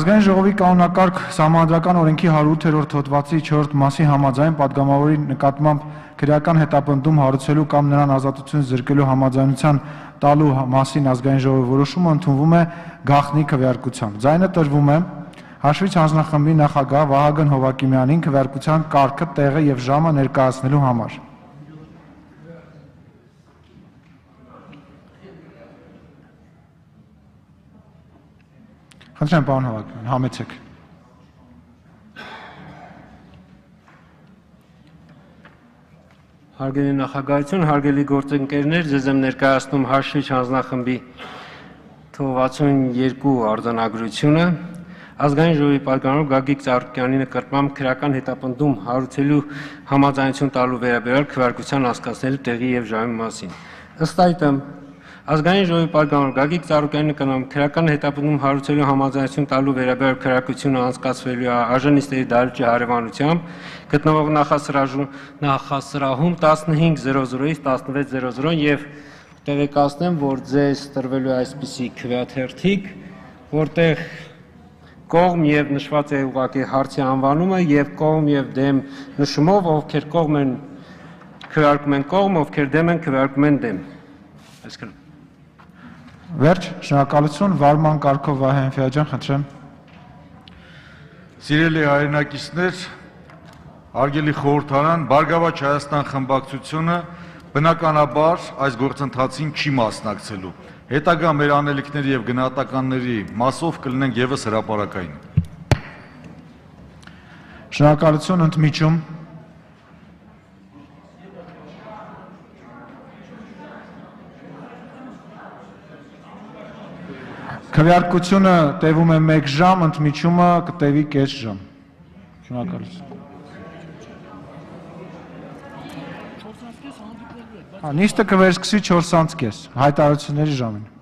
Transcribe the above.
Ազգային ժողովի կանոնակարգ սահմանադրական օրենքի 108-րդ հոդվածի 4-րդ մասի համաձայն պատգամավորի նկատմամբ քրեական հետապնդում հարուցելու կամ նրան ազատություն զրկելու համաձայնության տալու մասին ազգային ժողովի որոշումը ընդունվում է գաղտնի քվեարկությամբ։ Ձայնը տրվում է հաշվիչ հանձնախմբի նախագահ Վահագն Հովակիմյանին քվեարկության կարգը, տեղը եւ ժամը ներկայացնելու համար։ Խնդրեմ, պարոն Հովակիմյան, համեցեք։ Հարգելի նախագահություն, հարգելի գործընկերներ, ձեզ եմ ներկայացնում հաշվիչ հանձնախմբի թվով 62 արձանագրությունը, ազգային ժողովի պատգամավոր Գագիկ Ծառուկյանի նկատմամբ քրեական հետապնդում հարուցելու համաձայնություն տալու վերաբերյալ քվեարկության անցկացնելու տեղի եւ ժամի մասին։ Ըստ այդմ, ազգային ժողովի պատգամավոր Գագիկ Ծառուկյանի նկատմամբ քրեական հետապնդում հարուցելու համաձայնություն տալու վերաբերյալ քվեարկությունը անցկացվելու է արժանիստերի դահլիճի հարևանությամբ գտնվող նախասրահում 15:00-ից 16:00 եւ տեղեկացնեմ, որ ձեզ տրվելու է այսպիսի քվեաթերթիկ, որտեղ կողմ եւ նշված է ուղղակի հարցի անվանումը եւ կողմ եւ դեմ նշումով, ովքեր կողմ են քվեարկում են կողմ, ովքեր դեմ են քվեարկում են դեմ։ Այսքան։ Վերջ, շնորհակալություն, վարման կարգով Վահե Էնֆիաջյան, խնդրեմ։ Սիրելի հայրենակիցներ, հարգելի խորհրդարան, Բարգավաճ Հայաստան խմբակցությունը բնականաբար այս գործընթացին չի մասնակցելու։ Հետագա մեր անելիքների եւ գնահատականների մասով կլինենք եւս հրապարակային։ Շնորհակալություն, ընդմիջում։ Քվեարկությունը տևում է 1 ժամ, ընդմիջումը կտևի կես ժամ։ Շնորհակալություն։ Նիստը կվերսկսի 4:30, հայտարարությունների ժամին։